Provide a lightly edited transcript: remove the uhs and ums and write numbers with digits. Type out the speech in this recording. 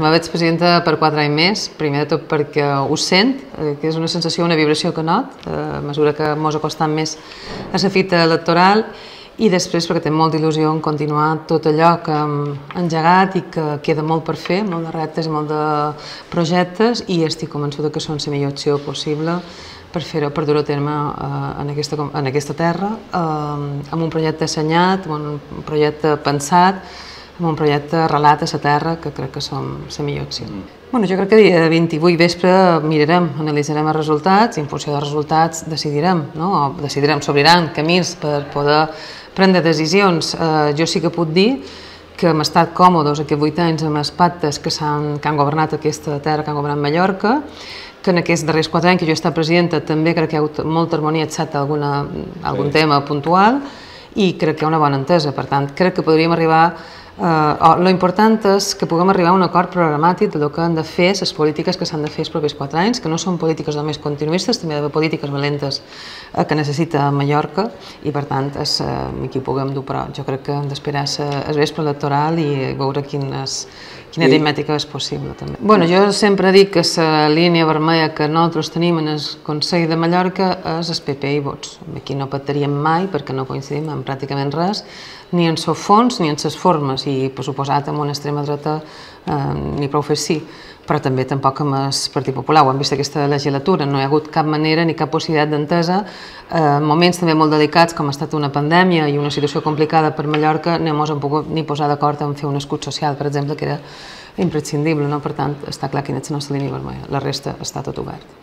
me veig presidenta per 4 anys més, primer de tot perquè ho sent, que és una sensació, una vibració que not, a mesura que mos acostam més a la fita electoral, i després perquè tinc molta il·lusió en continuar tot allò que hem engegat i que queda molt per fer, molt de reptes i molt de projectes, i estic convençuda que són la millor opció possible per fer-ho, per dur-ho a terme en aquesta terra, amb un projecte assenyat, amb un projecte pensat, amb un projecte arrelat a la terra, que crec que som la millor opció. Jo crec que dia 28 vespre mirarem, analitzarem els resultats i en funció dels resultats decidirem, s'obriran camins per poder prendre decisions. Jo sí que puc dir que hem estat còmodes aquests 8 anys amb els pactes que han governat aquesta terra, que han governat Mallorca, que en aquests darrers 4 anys que jo he estat presidenta també crec que hi ha hagut molta harmonia, excepte algun tema puntual, i crec que hi ha una bona entesa. Per tant, crec que podríem arribar... Lo important és que puguem arribar a un acord programàtic del que han de fer les polítiques que s'han de fer els propers 4 anys, que no són polítiques només continuistes, també hi ha d'haver polítiques valentes que necessita Mallorca, i per tant aquí ho puguem dur, però jo crec que hem d'esperar el vespre electoral i veure quina aritmètica és possible també. Jo sempre dic que la línia vermella que nosaltres tenim en el Consell de Mallorca és el PP i Vots. Aquí no pactaríem mai perquè no coincidim en pràcticament res, ni en el fons ni en les formes, i per suposat amb una extrema dreta ni prou fer sí, però també tampoc amb el Partit Popular. Ho hem vist aquesta legislatura, no hi ha hagut cap manera ni cap possibilitat d'entesa. En moments també molt delicats, com ha estat una pandèmia i una situació complicada per Mallorca, no ens hem pogut ni posar d'acord en fer un escut social, per exemple, que era imprescindible. Per tant, està clar quina és la nostra línia vermella. La resta està tot obert.